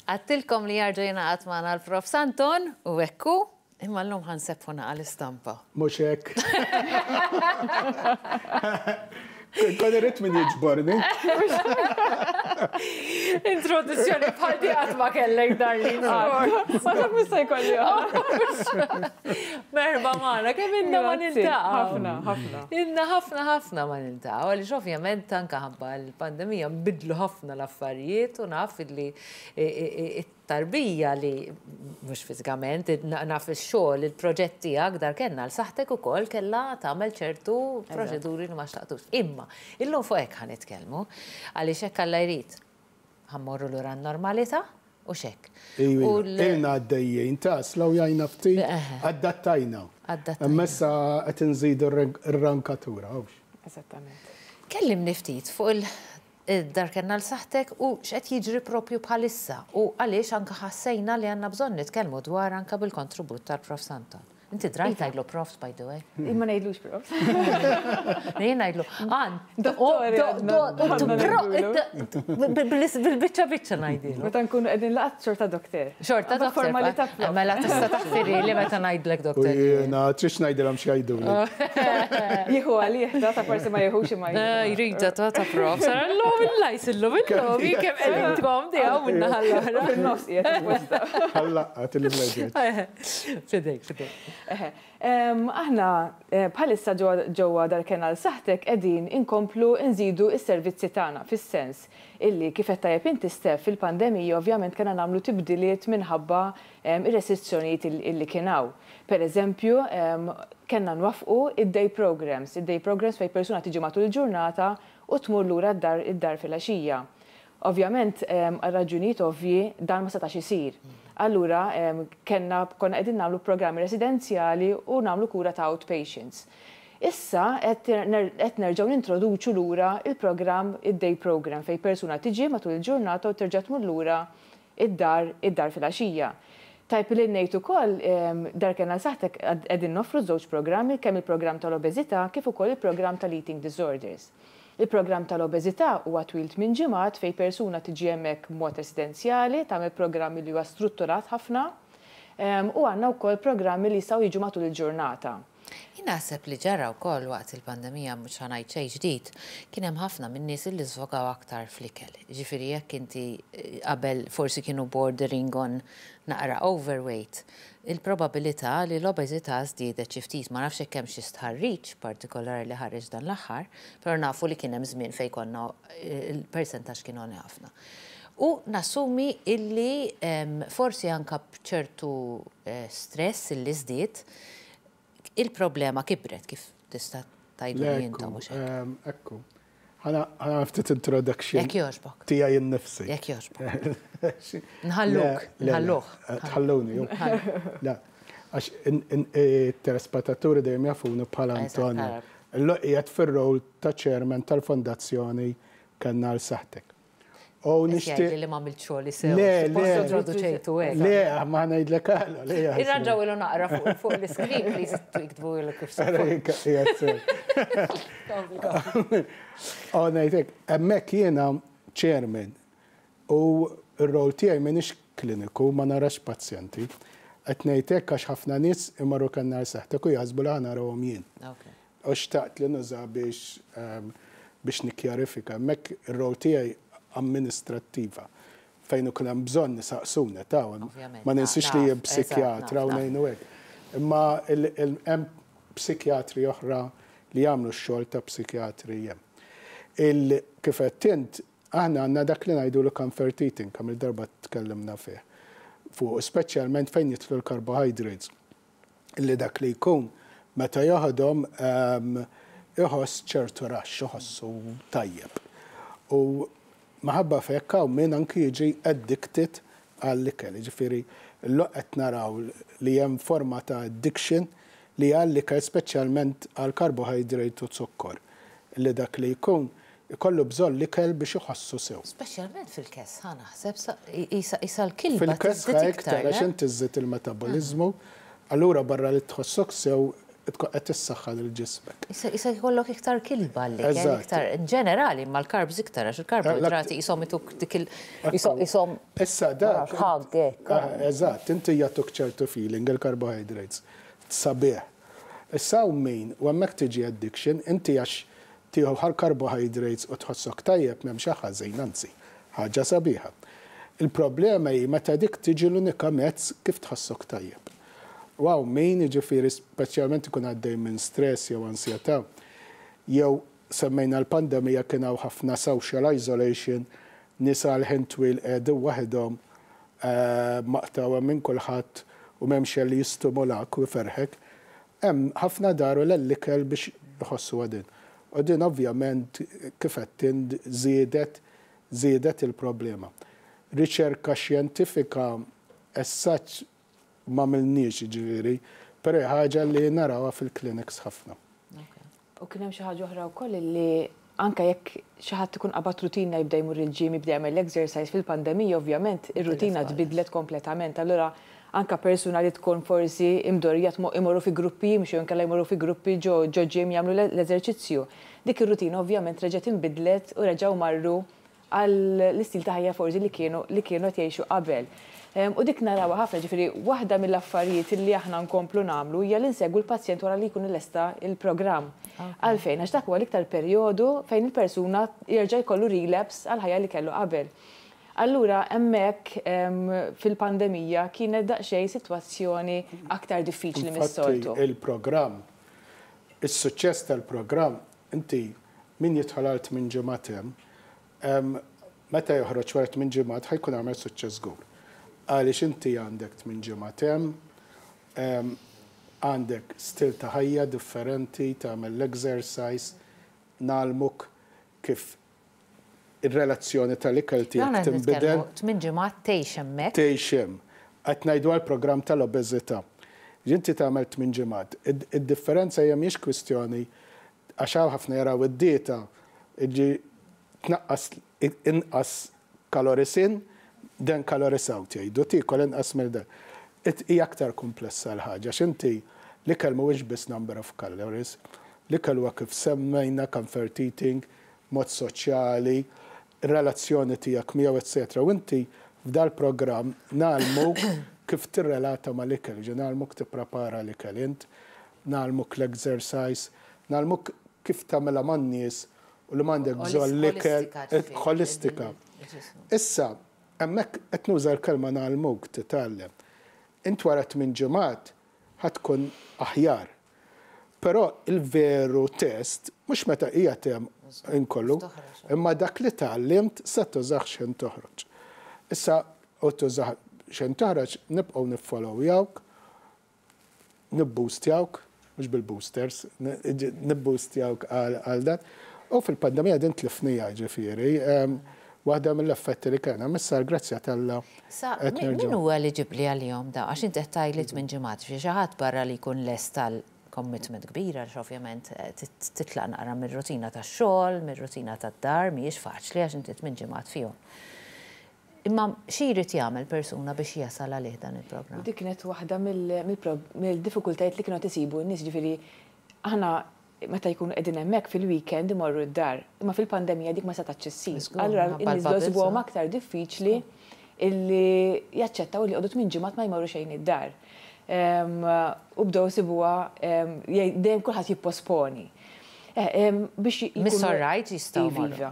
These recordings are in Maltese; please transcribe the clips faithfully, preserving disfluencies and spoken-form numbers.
Għedtilkom li jerġa' jingħaqad magħna l-Prof Anton u ekku, imma llum ħa nsebbħu naqra l-istampa. Mhux hekk. Kont irrid min jiġborni. Introduzzjoni bħal di qatt ma kellek, darling. Ma taf mista jkolli. Merħba magħna, kemm ilna ma niltaqgħu. Ħafna, ħafna. Ilna ħafna ħafna ma niltaqgħu, għaliex ovvjament anke ħabba l-pandemija nbidlu ħafna l-affarijiet u naf li it-tarbija li mhux fiżikament, naf ix-xogħol, il-proġett tiegħek Dar Kenn għal Saħħtek ukoll kellha tagħmel ċertu proċeduri li ma xtaqtux. Imma, illum fuq hekk ħa nitkellmu, għaliex hekk Alla jrid ħa mmorru lura n-normalità u xek. Ilna għaddejjien, ta' slow jajna ftit, adattajna. Imma issa qed nżidu r-rankatura. Eżattament. Kellimni ftit fuq il-Dar Kenn għal Saħħtek u x'qed jiġri propju bħalissa u għaliex anka ħassejna li għandna bżonn nitkellmu dwar anka bil-kontribut tal-Prof Anton. Inti drajt tgħidlu profs, by the way. Imma ngħidlux profs. Jien ngħidlu, għan, bil-biċċa biċċa ngħidilu. Meta nkunu qegħdin laqat xorta doktor. Xorta doktor. Formalità prof. Mela tista' taħfiri li meta ngħidlek doktor. Jiena, trix ngħidilhom x'jgħiduli. Jieħu għalih, ta' ta' forsi ma jieħux imma. Jrida ta' ta' prof. Sara l-lum il-lajs illum illum, kemm qegħdin tkom diegħu minna ħall-oħra. Fil-nofs qiegħed apposta. Ħallaqqa il-mleġet. Fidejk, fidejk. Aħna bħalissa ġewwa Dar Kenn għal Saħħtek qegħdin inkomplu nżidu s-servizzi tagħna, fis-sens illi kif qed tajjeb inti, Steph, fil-pandemija ovvjament kellna nagħmlu tibdiliet minħabba ir-restrizzjonijiet illi kien hawn. Per eżempju, kellna nwaffqu id-day programs, id-day programs fejn persuna tiġi matul il-ġurnata u tmur lura d-dar id-dar filgħaxija. Ovvjament, għal raġunijiet ovvji dan ma setax isir. Allura, kellna konna qegħdin nagħmlu programmi residenzjali u nagħmlu kura ta' outpatients. Issa qed nerġgħu nintroduċu lura il-programm, id-day program, fejn persuna tiġi matul il-ġurnata u terġa' tmur lura id-dar id-dar filgħaxija. Tajjeb li ngħid ukoll, Dar Kenn għal Saħħtek qegħdin noffru żewġ programmi, kemm il-programm tal-obeżità kif ukoll il-programm tal-eating disorders. Il-programm tal-obeżità huwa twil minn ġimgħat fejn persuna tiġi hemmhekk b'mod residenzjali, tagħmel programmi li huwa strutturat ħafna, u għandna wkoll programmi li jistgħu jiġu matul il-ġurnata. Jien naħseb li ġara wkoll waqt il-pandemija, mhux ħa ngħid xejn ġdid, kien hemm ħafna minn nies li żvogaw aktar fl-ikel. Ġifieri jekk inti qabel forsi kienu bordering on naqra overweight, il-probabilità li l-obeżità żdiedet xi ftit, ma nafx hekk hemm xi stħarriġ partikolari li ħareġ dan l-aħħar, però nafu li kien hemm żmien fejn konna il-persentaġġ kien għoli ħafna. U nassumi illi forsi anka b'ċertu stress illi żdied, il-problema kibret, kif tista' tgħidu intom, mhux hekk? Ekku. Ħa ftit introduction. Jekk jogħġbok. Tiegħi nnifsi. Jekk jogħġbok. Nħalluk, nħalluh. Tħalluni, ju. Le, għax it-telespettaturi dejjem jafuni bħala Antonio. Illum qiegħed fir-rol ta' chairman tal-Fondazzjoni Kenn għal Saħħtek. U nixtieq. Li ma għamilt xogħli sew. Le, le. Introduċejtu hekk. Le, ma ngħidlek għala, le. Irranġaw ilu naqra fuq l-iskrin, please, iktbu ilu kif sew. U ngħidlek, hemmhekk jiena chairman u r-rol tiegħi m'iniex kliniku, ma narax pazjenti. Qed ngħidlek għax ħafna nies imorru Kenn għal Saħħtek u jaħsbu li ħa narahom jien. U xtaqt li nuża biex biex nikkjarifika. Hemmhekk ir-rol tiegħi amministrattiva fejn ukoll hemm bżonn nisaqsuna ta' ma ninsiex li jien psikjatra u ngħinu hekk. Imma hemm psikjatri oħra li jagħmlu x-xogħol ta' psikjatri hemm. Kif qed int, aħna għandna dak li ngħidu l comfort eating, kemm il-darba tkellimna fih. Fuq speċjalment fejn jidħlu l-carbohydrates. Illi dak li jkun meta joħodhom iħoss ċertu raxx, iħossu tajjeb. U maħabba fekk hawn min anki jiġi addicted għall-ikel. Ġifieri l qed naraw li hemm forma ta' addiction li għall-ikel, speċjalment għal carbohydrate u zukkor. Li dak li jkun ikollu bżonn l-ikel biex iħossu sew. Speċjalment fil-kesħa naħseb, isa l-kilba. Fil-kesħa iktar, għax inti żżid il-metabolizmu, allura barra li tħossok sew tkun qed tissaħħa lil ġismek. Issa jkollok iktar kilba li iktar in ġenerali, ma l-carbs iktar, għax il-karboidrati jisom ituk dik il jisom. Issa dak. Eżatt, inti jagħtuk ċertu feeling il-carbohydrates. Sabiħ. Issa u min, u hemmhekk tiġi addiction, inti għax tieħu ħal carbohydrates u tħossok tajjeb, m'hemm ħażin, anzi, ħaġa sabiħa. Il-problema hi meta dik tiġi l-unika mezz kif tħossok tajjeb. Wow, min jiġifieri speċjalment ikun għaddej minn stress jew ansjetà, jew semmejna l-pandemija, kien hawn ħafna social isolation, nisa l-ħin twil qegħdu waħedhom, eh, maqtgħa minn kulħadd u m'hemmx li jistimulak u jferħek. Hemm ħafna daru l-ikel biex jħossu għadin. U din ovvjament kif qed żiedet żiedet il-problema. Riċerka xjentifika essaċ ma milniex ġifieri, però ħaġa li narawha fil-clinics ħafna. U kien hemm xi ħaġa oħra wkoll li anke jekk xi ħadd ikun qabad rutina, jibda jmur il-gym, jibda jagħmel exercise, fil-pandemija ovvjament ir-rutina tbidlet kompletament. Allura anka persuna li tkun forsi imdorja imorru fi gruppi jimxu, inkella jmorru fi gruppi ġo ġo gym jagħmlu l-eżerċizzju. Dik ir-rutina ovvjament reġgħet inbidlet u reġgħu marru għall istil ta' ħajja forsi li kienu li kienu qed jgħixu qabel. U dik narawha ħafna, ġifieri waħda mill-affarijiet li aħna nkomplu nagħmlu hija li nsegwu l-pazjent wara li jkun lesta il-programm. Għalfejn? Għax dak huwa l-iktar perjodu fejn il-persuna jerġa' jkollu relapse għal ħajja li kellu qabel. Allura hemmhekk fil-pandemija kienet daqsxejn sitwazzjoni aktar diffiċli mis-soltu. Il-programm, is-suċċess tal-programm, inti min jidħol għal tmien ġimgħat hemm, meta joħroġ wara tmien ġimgħat ħa jkun għamel suċċess żgur. Għaliex inti għandek tmien ġimgħat hemm, għandek stil ta' ħajja differenti, tagħmel l-exercise, ngħallmuk kif ir-relazzjoni tal-ikel tiegħek tinbidel. Tmien ġimgħat tgħix hemmhekk. Tgħix hemm. Qed ngħidu għall-programm tal-obeżità. Inti tagħmel tmien ġimgħat. Id-differenza hija mhix kwistjoni għax hawn ħafna jaraw id-dieta iġi tnaqqas inqas calories in, then calories out jgħidu, tiekol inqas mill dan. Hija aktar komplessa l-ħaġa, x'inti l-ikel mhuwiex biss number of calories, l-ikel huwa kif semmejna comfort eating, mod soċjali, relazzjoni tiegħek miegħu, eċetera. U inti f'dal programm ngħallmuk kif tirrelata mal-ikel, ġi ngħallmuk tipprepara l-ikel int, ngħallmuk l-exercise, ngħallmuk kif tagħmilha man-nies u li m'għandek bżonn l-ikel holistika. Issa, hemmhekk qed nuża l-kelma ngħallmuk titgħallem. Int wara tmien ġimgħat ħa tkun aħjar. Però il-veru test mhux meta hija tem inkollu, imma dak li tgħallimt se tużax x'ħin toħroġ. Issa u tużax x'ħin toħroġ, nibqgħu niffollowjawk, nibboostjawk, mhux bil-boosters, nibboostjawk għal dan. U fil-pandemija din tlifnija ġifieri, waħda mill-effetti li kena, missa grazzja t'Alla. Sa, min huwa eliġibbli għalihom da? Għax inti qed tgħidli tmien ġimgħat, xi ħadd barra li jkun lest tal-commitment kbira, għax ovvjament eh, titlaq naqra mir-rutina tax-xogħol, mir-rutina tad-dar, mhijiex faċli għax inti tmien ġimgħat fihom. Imma xi jrid jagħmel persuna biex jasal għalih dan il-programm? Dik kienet waħda mill-diffikultajiet li kienu tisibu n-nies, ġifieri aħna meta jkunu qegħdin hemmhekk fil-weekend imorru d-dar, imma fil-pandemija dik ma setgħetx issir. Allura n-nies isibuhom aktar diffiċli illi jaċċettaw li joqogħdu tmien ġimgħat ma jmorru xejn id-dar. U bdew isibuha dejjem kulħadd jipposponi. Eh, biex Miss Right jistgħu. Iva.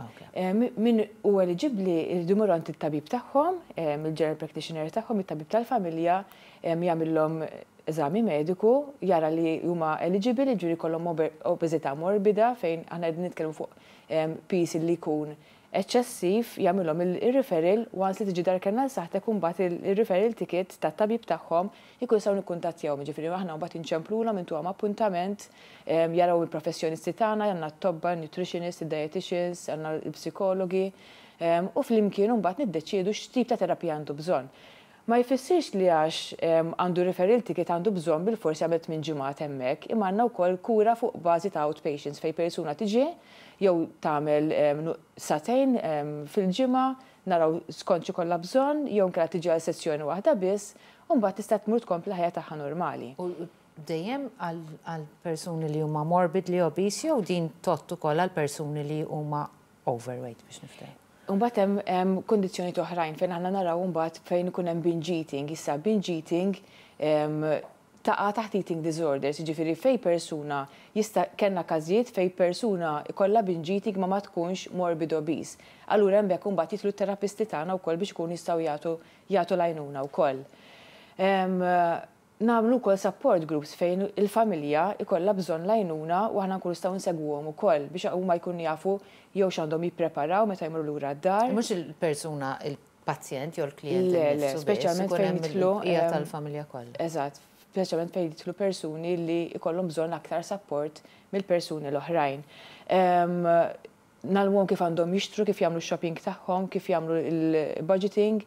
Min u eliġibbli jridu jmorru għand it-tabib tagħhom, il-general practitioner tagħhom, it-tabib tal-familja, jagħmilhom eżami mediku, jara li huma eligible, ġuri kollhom obeżità morbida, fejn aħna qegħdin nitkellmu fuq piż li jkun eċċessiv, jagħmilhom il-referral. Once li tiġi Dar Kenn għal Saħħtek, mbagħad il-referral ticket tat-tabib tagħhom jkun jistgħu nikkuntattjaw. Ġifieri aħna mbagħad inċemplulhom, intuhom appuntament, jaraw il-professjonisti tagħna, għandna t-tobba, nutritionist, dietitians, għandna l-psikologi, u flimkien mbagħad niddeċiedu x'tip ta' terapija għandu bżonn. Ma jfissirx li għax għandu referral ticket għandu bżonn bil-forsi għamel tmien ġimgħat hemmhekk, imma għandna wkoll kura fuq bażi ta' outpatients fejn persuna tiġi jew tagħmel sagħtejn fil-ġimgħa, naraw skont xi kollha bżonn, jew inkella tiġi għal sessjoni waħda biss, u mbagħad tista' tmur tkompli ħajja tagħha normali. U dejjem għal persuni li huma morbidly obese jew din tgħodd ukoll għal persuni li huma overweight, biex niftehmu? Mbagħad hemm kondizzjoni oħrajn fejn aħna naraw mbagħad fejn ikun hemm binge eating. Issa, binge eating taqa' taħt eating disorders, jiġifieri fej persuna jista', kellna każijiet fej persuna ikollha binge eating ma ma tkunx morbid obese. Allura hemmhekk imbagħad jidħlu t-terapisti tagħna wkoll biex ikunu jistgħu jagħtu jagħtu l-għajnuna wkoll. Nagħmlu wkoll support groups fejn il-familja ikollha bżonn l-għajnuna u aħna nkunu nistgħu nsegwuhom ukoll biex huma jkunu jafu jew x'għandhom jippreparaw meta jmorru lura d-dar. Mhux il-persuna, il-pazjent jew il-klient. Le, le, speċjalment fejn jidħlu hija tal-familja kollha. Eżatt, speċjalment fejn jidħlu persuni li jkollhom bżonn aktar support mill-persuni l-oħrajn. Ngħallmuhom kif għandhom jixtru, kif jagħmlu shopping tagħhom, kif jagħmlu il-budgeting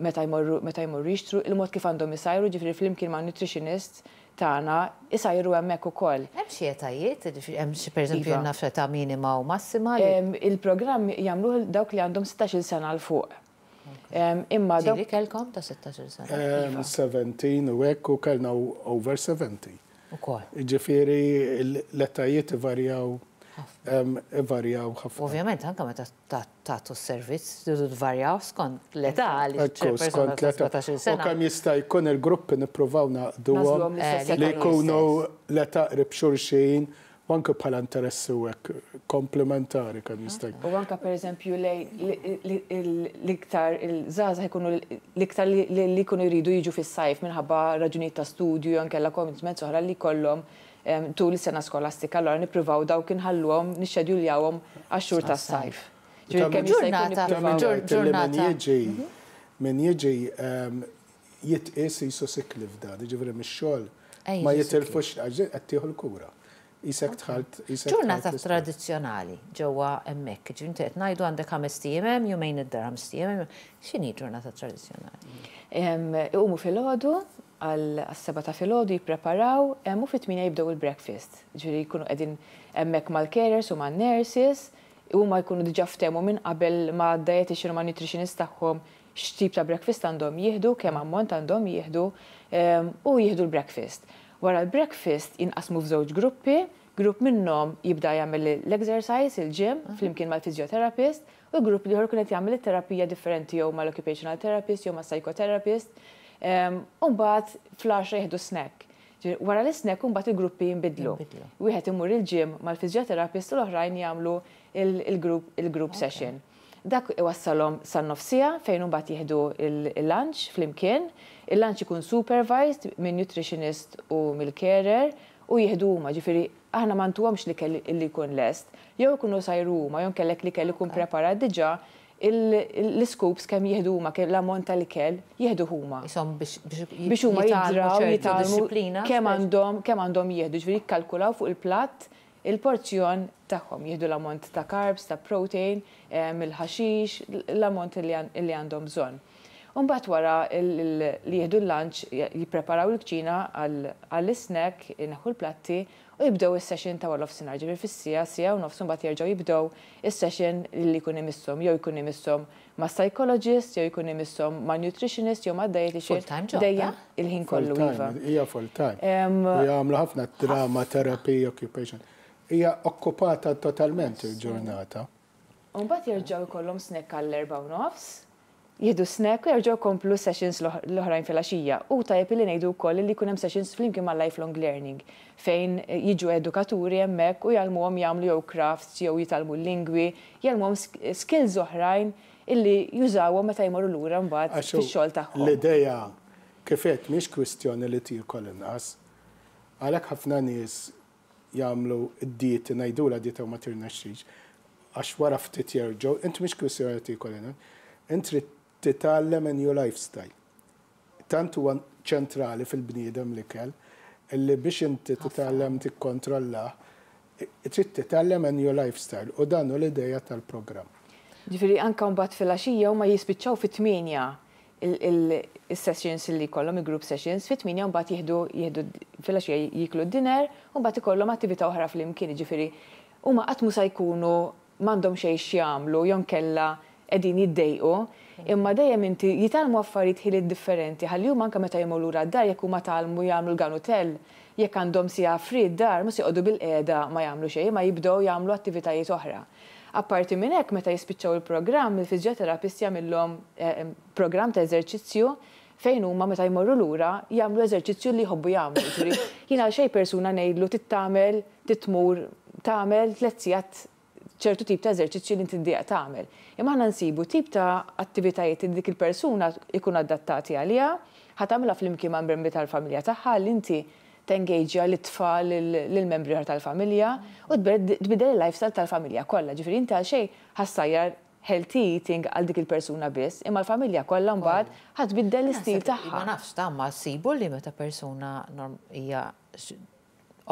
meta jmorru meta jmorru jixtru, il-mod kif għandhom isajru, ġifieri flimkien ma' nutritionist tagħna isajru hemmhekk ukoll. Hemm xi etajiet, hemm xi, pereżempju, Iva. naf, età minima u massima? Il-programm jagħmluh dawk li għandhom sittax-il sena 'l fuq. Imma dawk kellkom ta' sittax-il sena? Iva. sbatax u hekk, u kellna over sebgħin. Ukoll. Ġifieri l-etajiet ivarjaw ivarjaw ħafna. Ovvjament, anke meta tagħtu s-servizz, tridu tvarjaw skont l-età. Ekku, skont l-età. U kemm jista' jkun il-gruppi nippruvaw nagħqduhom li jkunu l-età qrib xulxin, u anke bħala interessi u hekk komplementari kemm jista' jkun. U anke, pereżempju, l-iktar il-żgħażagħ jkunu l-iktar li jkunu jridu jiġu fis-sajf minħabba raġunijiet ta' studju jew inkella commitments oħra li jkollhom tul is-sena skolastika, allora nippruvaw dawk inħalluhom, nixxedjuljawhom għax-xhur tas-sajf. Ġurnata. Ġurnata. Min jiġi min jiġi jitqies qisu sick leave dan, ġifieri mix-xogħol ma jitilfux qed tieħu l-kura. Qisek dħalt. Ġurnata tradizzjonali ġewwa hemmhekk, ġifieri qed ngħidu għandek ħames ijiem hemm, jumejn id-dar, ħames ijiem hemm. X'inhi ġurnata tradizzjonali? Iqumu filgħodu, għas-sebgħa ta' filgħodu jippreparaw u fit-tmienja jibdew il-breakfast. Ġifieri jkunu qegħdin hemmhekk mal-carers u man-nurses, huma jkunu diġà ftehmu minn qabel ma' dietitian u ma' nutritionist tagħhom x'tip ta' breakfast għandhom jieħdu, kemm ammont għandhom jieħdu, u jieħdu l-breakfast. Wara l-breakfast jinqasmu f'żewġ gruppi, grupp minnhom jibda jagħmel l-exercise, il-gym, flimkien mal-physiotherapist, u grupp l-ieħor ikun qed jagħmel it-terapija differenti jew mal-occupational therapist jew mas-psychotherapist. U mbagħad fl-għaxra jieħdu snack. Wara l-snack mbagħad il-gruppi jinbidlu. Wieħed imur il-gym mal-physiotherapist u l-oħrajn jagħmlu il-group il-group session. Dak iwassalhom san-nofs siegħa fejn mbagħad jieħdu il-lunch flimkien. Il-lunch ikun supervised minn nutritionist u mill-carer u jieħdu huma, ġifieri aħna ma ntuhomx l-ikel li jkun lest, jew ikunu sajru huma, jew kellek l-ikel ikun preparat diġà, l-scoops kemm jieħdu huma, l-ammont tal-ikel jieħdu huma. Isom biex biex huma jidraw, jitgħallmu kemm għandhom kemm għandhom jieħdu, ġifieri jikkalkulaw fuq il-platt il-porzjon tagħhom, jieħdu l-ammont ta' carbs, ta' protein, il-ħaxix, l-ammont li għandhom bżonn. Umbagħad wara li jieħdu l-lunch jippreparaw il-kċina għall-snack, ineħħu l-platti u jibdew is-session ta' wara nofsinhar, ġifieri fis-siegħa, siegħa u nofs mbagħad jerġgħu jibdew is-session li jkun imisshom, jew jkun imisshom ma' psychologist, jew jkun imisshom ma' nutritionist, jew ma' dietitian. Full-time job. Dejjem il-ħin kollu, iva. Hija full time. U jagħmlu ħafna drama therapy, occupation. Hija okkupata totalment il-ġurnata. Mbagħad jerġgħu jkollhom snack għall-erbgħa u nofs, jieħdu snack u jerġgħu jkomplu sessions l-oħrajn fil-għaxija. U tajjeb li ngħidu wkoll li jkun hemm sessions flimkien ma' lifelong learning fejn jiġu edukaturi hemmhekk u jgħallmuhom jagħmlu jew crafts jew jitgħallmu l-lingwi, jgħallmuhom skills oħrajn illi jużawhom meta jmorru lura mbagħad fix-xogħol tagħhom. L-idea kif qed mhix kwistjoni li tiekol inqas. Għalhekk ħafna nies jagħmlu d-dieti, ngħidula dieta, u ma tirnexxix għax wara ftit jerġgħu. Int mhix kwistjoni li tiekol inqas. Int trid titgħallem a new lifestyle. Tant huwa ċentrali fil-bniedem l-ikel, illi biex inti titgħallem tikkontrolla, trid titgħallem a new lifestyle, u dan hu l-idea tal-programm. Ġifieri anka mbagħad fil-għaxija huma jispiċċaw fit-tmienja il-sessions li jkollhom, il-group sessions, fit-tmienja mbagħad jieħdu jieħdu fil-għaxija, jiklu d-dinner u mbagħad ikollhom attività oħra flimkien, ġifieri huma qatt mhu se jkunu m'għandhom xejn x'jagħmlu jew kella qegħdin jiddejqu, imma dejjem inti jitgħallmu affarijiet, ħiliet differenti, ħalli huma anke meta jmorru lura d-dar, jekk huma tgħallmu jagħmlu l-ganutell, jekk għandhom siegħa free d-dar, mhux joqogħdu bil-qiegħda ma jagħmlu xejn, ma jibdew jagħmlu attivitajiet oħra. Apparti minn hekk, meta jispiċċaw il-programm, il-fiżjoterapist jagħmilhom eh, programm ta' eżerċizzju fejn huma meta jmorru lura jagħmlu eżerċizzju li jħobbu jagħmlu. Ġifieri, jiena għal xejn persuna ngħidlu tittamel titmur tagħmel tliet sigħat ċertu tip ta' eżerċizzju li inti ddieq tagħmel. Imma aħna nsibu tip ta' attivitajiet li dik il-persuna ikun adattati għaliha, ħa tagħmilha flimkien ma' membri tal-familja tagħha, li inti tengaġja l-tfal, lill-membri tal-familja u tbidel il-lifestyle tal-familja kollha. Ġifieri inti għal xejn ħa ssajjar healthy eating għal dik il-persuna biss, imma l-familja kollha mbagħad ħa tbiddel l-istil tagħha. Ma nafx ta' ma ssibu li meta persuna hija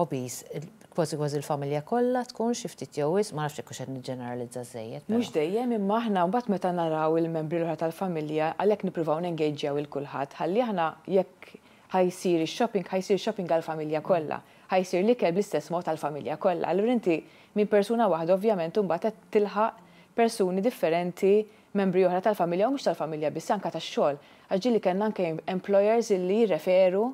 obese, kważi kważi il-familja kollha tkun xi ftit jew ma nafx jekk qed niġġeneralizza żejjed. Mhux dejjem, imma aħna mbagħad meta naraw il-membri l-oħra tal-familja, għalhekk nippruvaw nengaġġjaw il kulħadd ħalli aħna jekk ħa jsir ix-shopping, ħa jsir shopping għall-familja kollha. Ħa jsir l-ikel bl-istess mod għall-familja kollha. Allura inti minn persuna waħda ovvjament imbagħad qed tilħaq persuni differenti, membri oħra tal-familja u mhux tal-familja biss, anke tax-xogħol. Għax ġieli kellna anke employers illi jirreferu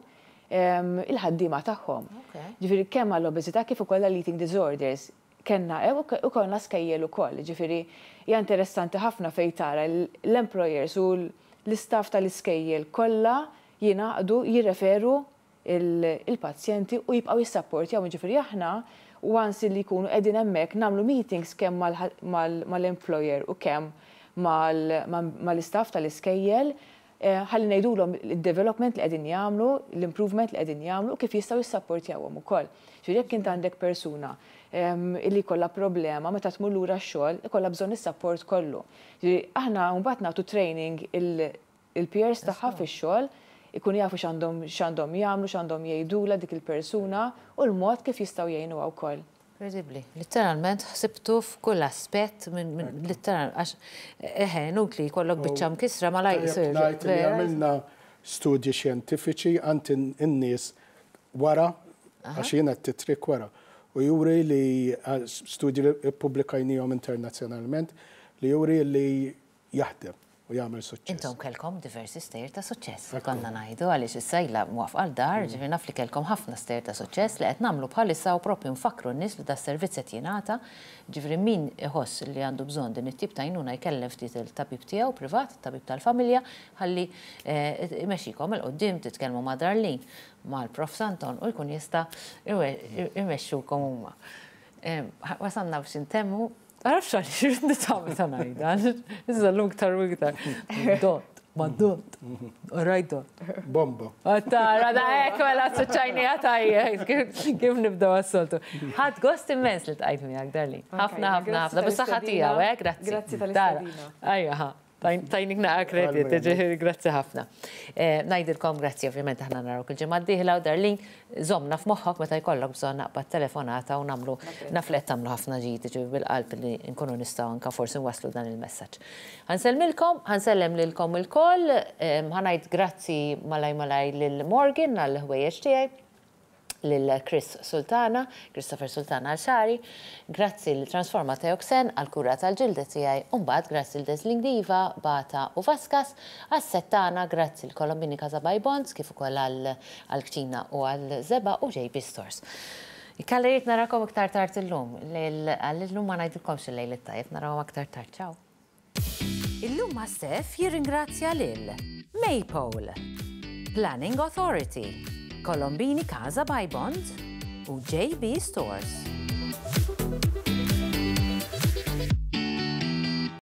il-ħaddiema tagħhom. Ġifieri kemm għall-obeżità kif ukoll għall-eating disorders. Kellna u konna skejjel ukoll, ġifieri hija interessanti ħafna fejn tara l-employers u l-istaff tal-iskejjel kollha jingħaqdu jirreferu il-pazjenti u jibqgħu jissapportjaw. Ġifieri aħna once li jkunu qegħdin hemmhekk nagħmlu meetings kemm mal-employer u kemm mal-istaff tal-iskejjel eh, ħalli ngħidulhom il-development li qegħdin jagħmlu, l-improvement li qegħdin jagħmlu u kif jistgħu jissapportjawhom ukoll. Ġifieri jekk int għandek persuna illi kollha problema, meta tmur lura x-xogħol ikollha bżonn is-support kollu. Ġifieri aħna mbagħad nagħtu training il-peers tagħha fix-xogħol, ikun jafu x'għandhom x'għandhom jagħmlu, x'għandhom jgħidula dik il-persuna u l-mod kif jistgħu jgħinuha wkoll. Incredibli. Literalment ħsibtu f'kull aspett minn literal għax eħe inutli jkollok biċċa mkisra ma la jsir. Ngħid li għamilna studji xjentifiċi għand in-nies wara, għax jiena t-trik wara. U juri li studji li ppubblikajnihom internazzjonalment li juri li jaħdem u jagħmel suċċess. Intom kellkom diversi stejjer ta' suċċess. Konna ngħidu għaliex issa ilha mwafqa l-dar, ġifieri naf li kellkom ħafna stejjer ta' suċċess li qed nagħmlu bħalissa u propju nfakru n-nies li da servizz qed jingħata. Ġifieri min iħoss li għandu bżonn din it-tip ta' għajnuna jkellem ftit il-tabib tiegħu privat, tabib tal-familja, ħalli eh, imexxikom 'il quddiem, titkellmu ma' Darlene, mal-Prof Santon u jkun jista' imexxukom huma. Wasanna biex intemmu. Għaraf xalli, xirrid nitgħamil ta' ngħida. Issa l-lum iktar u iktar. Dot, ma dot, right dot. Bomba. Tara, da ek, mela suċċajni għatajje, kif nibdaw għas-soltu. Ħadt gost immens li ltqajt miegħek, Darlene. Ħafna, ħafna, ħafna. Bis-saħħa tiegħu, eh, grazzi. Grazzi tal-istedina. Ajja, ħa. Tajnik naqa kredit, ġifieri grazzi ħafna. Ngħidilkom grazzi, ovvjament aħna narawk il-ġimgħa d-dieħla u Darlene, żommna f'moħħok meta jkollok bżonn naqbad telefonata u nagħmlu naf li qed tagħmlu ħafna ġid, ġifieri bil-qalb li nkunu nistgħu anke forsi nwasslu dan il-messaġġ. Ħa nsellmilkom, ħa nsellem lilkom ilkoll, ħa ngħid grazzi malaj malaj lil Morgan għall-ħwejjeġ tiegħi, lil Chris Sultana, Christopher Sultana għal xagħri, grazzi lil Transforma Teoxen għal kura tal-ġilda tiegħi, u mbagħad grazzi lil Dazzling Diva, Bata u Vaskas, għas-settana, grazzi lil Colombini Casa by Bonds, kif ukoll għal-kċina u għal-żebgħa u J B Stores. Ikkaleriet narakom iktar tard illum, għall-lum ma ngħidilkomx il-lejl it-tajjeb, narawhom aktar tard, ciao. Illum ma' Steph jirringrazzja lil Maypole, Planning Authority, Colombini Casa by Bond u J B Stores.